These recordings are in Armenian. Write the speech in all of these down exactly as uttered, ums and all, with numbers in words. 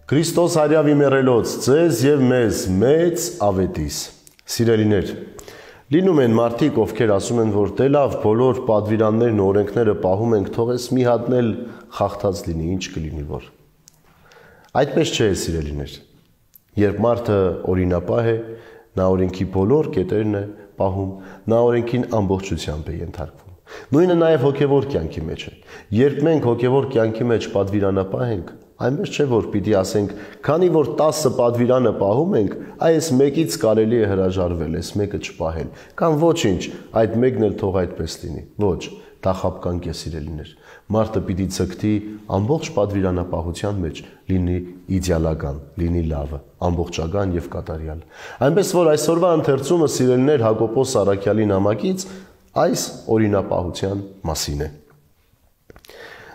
Քրիստոս հարյավի մեռելոց ձեզ եւ մեզ մեծ ավետիս։ Սիրելիներ, լինում են մարդիկ, ովքեր ասում են, որ դե լավ, բոլոր պատվիրաններն ու օրենքները պահում ենք, թողես մի հատն էլ խախտած լինի, ինչ կլինի որ։ Այդպես չէ, սիրելիներ։ Երբ մարդը օրինապահ է, նա օրենքի բոլոր կետերն է պահում, նա օրենքին ամբողջությամբ է ենթարկվում։ Նույնը նաև հոգևոր կյանքի մեջ է։ Երբ մենք հոգևոր կյանքի մեջ պատվիրանապահ ենք, այնպես չէ, որ պիտի ասենք, քանի որ տասը պատվիրանը պահում ենք, այս մեկից կարելի է հրաժարվել, այս մեկը չպահել, կամ ոչինչ, այդ մեկն էլ թող այդպես լինի։ Ոչ, դա խաբկանք է, սիրելիներ։ Մարդը պիտի ցկտի ամբողջ պատվիրանապահության մեջ, լինի իդեալական, լինի լավը, ամբողջական եւ կատարյալ։ Այնպես որ այսօրվա ընթերցումը, սիրելիներ, Հակոբոս Առաքյալի նամակից այս օրինապահության մասին է։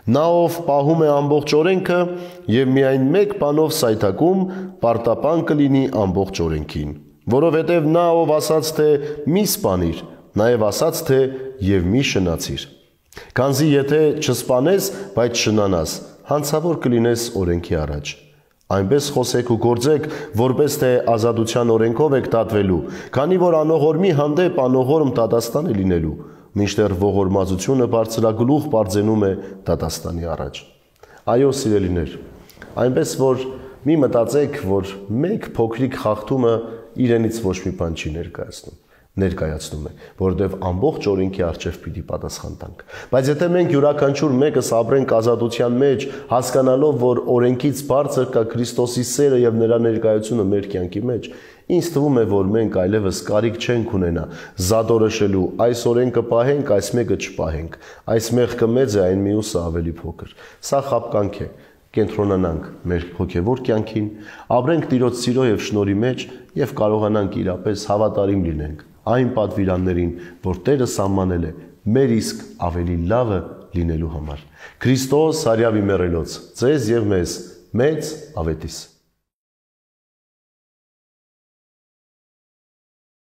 Նա ով պահում է ամբողջ օրենքը եւ միայն մեկ բանով սայթակում, պարտապան կլինի ամբողջ օրենքին, որովհետեւ նա ով ասաց թե մի սպանիր, նաեւ ասաց թե եւ մի շնացիր։ Քանզի եթե չսպանես, բայց շնանաս, հանցավոր կլինես օրենքի առաջ։ Այնպես խոսեք ու գործեք, որպես թե ազատության օրենքով եք դատվելու, քանի որ անողորմի հանդեպ անողորմ դատաստան է լինելու, մինչդեռ ողորմածությունը բարձրագլուխ բարձենում է դատաստանի առաջ։ Այո, սիրելիներ, այնպես որ մի մտածեք, որ մեկ փոքրիկ խախտումը իրենից ոչ մի բան չի ներկայացնում, ներկայացնում է, որովհետև ամբողջ օրենքի առջև պիտի պատասխան տանք։ Բայց եթե մենք յուրաքանչյուր մեկս ապրենք ազատության մեջ, հասկանալով, որ օրենքից բարձր կա Քրիստոսի սերը եւ նրա ներկայությունը մեր կյանքի մեջ, ինձ թվում է, որ մենք այլևս կարիք չենք ունենա զադորոշելու այս օրենքը պահենք, այս մեկը չպահենք, այս մեղքը մեծ է, այն մյուսը ավելի փոքր։ Սա խաբկանք է։ Կենտրոնանանք մեր հոգևոր կյանքին, ապրենք Տիրոջ սիրո եւ շնորհի մեջ եւ կարողանանք իրապես հավատարիմ լինենք այն պատվիրաններին, որ Տերը սահմանել է մեր իսկ ավելի լավը լինելու համար։ Քրիստոս հարյավի մեռելոց ձեզ եւ մեզ մեծ ավետիս։